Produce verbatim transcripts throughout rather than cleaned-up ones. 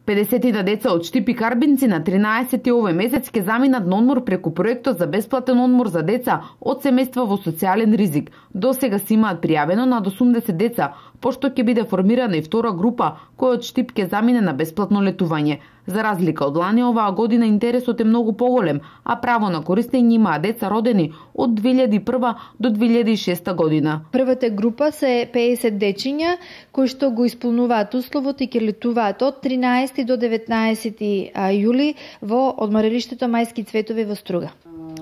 педесет деца од Штип и Карбинци на тринаесети овој месец ќе заминат на одмор преку проектот за бесплатен одмор за деца од семејства во социјален ризик. До сега се имаат пријавено над осумдесет деца, пошто ќе биде формирана и втора група која од Штип ќе замине на бесплатно летување. За разлика од лани, оваа година интересот е многу поголем, а право на користење имаа деца родени од две илјади и прва до две илјади и шеста година. Првата група се педесет дечиња кои што го исполнуваат условот и ќе летуваат од тринаесети до деветнаесети јули во одморилиштето Мајски цветови во Струга.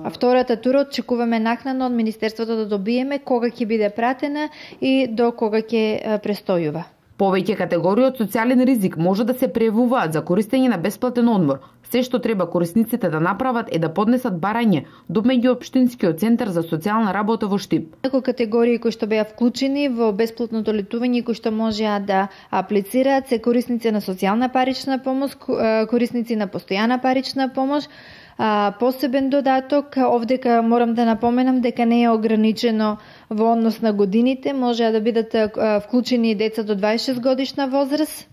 А втората тура очекуваме накнадно од Министерството да добиеме кога ќе биде пратена и до кога ќе престојува. Повеќе категории од социјален ризик може да се пријавуваат за користење на бесплатен одмор. Се што треба корисниците да направат е да поднесат барање до меѓуопштинскиот центар за социјална работа во Штип. Некои категории кои што беа вклучени во бесплатното летување и кои што можеа да аплицираат се корисници на социјална парична помош, корисници на постојана парична помош. А, посебен додаток, овдека морам да напоменам дека не е ограничено во однос на годините, може да бидат а, вклучени деца до дваесет и шест годишна возраст,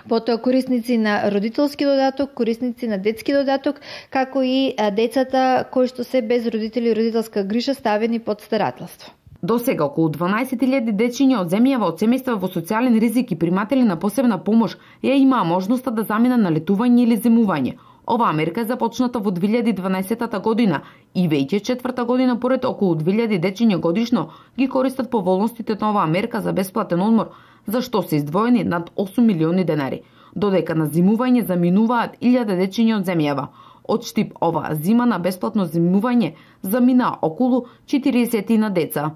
потоа корисници на родителски додаток, корисници на детски додаток, како и а, децата кои што се без родители и родителска грижа ставени под старателство. До сега околу дванаесет илјади дечиња од земјава од семејства во социјален ризик и приматели на посебна помош ја имаа можноста да заминат на летување или земување. Оваа мерка е започната во две илјади и дванаесета година и веќе четврта година поред околу две илјади дечиња годишно ги користат поволностите на оваа мерка за бесплатен одмор, за што се издвоени над осум милиони денари. Додека на зимување заминуваат илјада дечиња од земјава. Од Штип оваа зима на бесплатно зимување замина околу четириесет деца.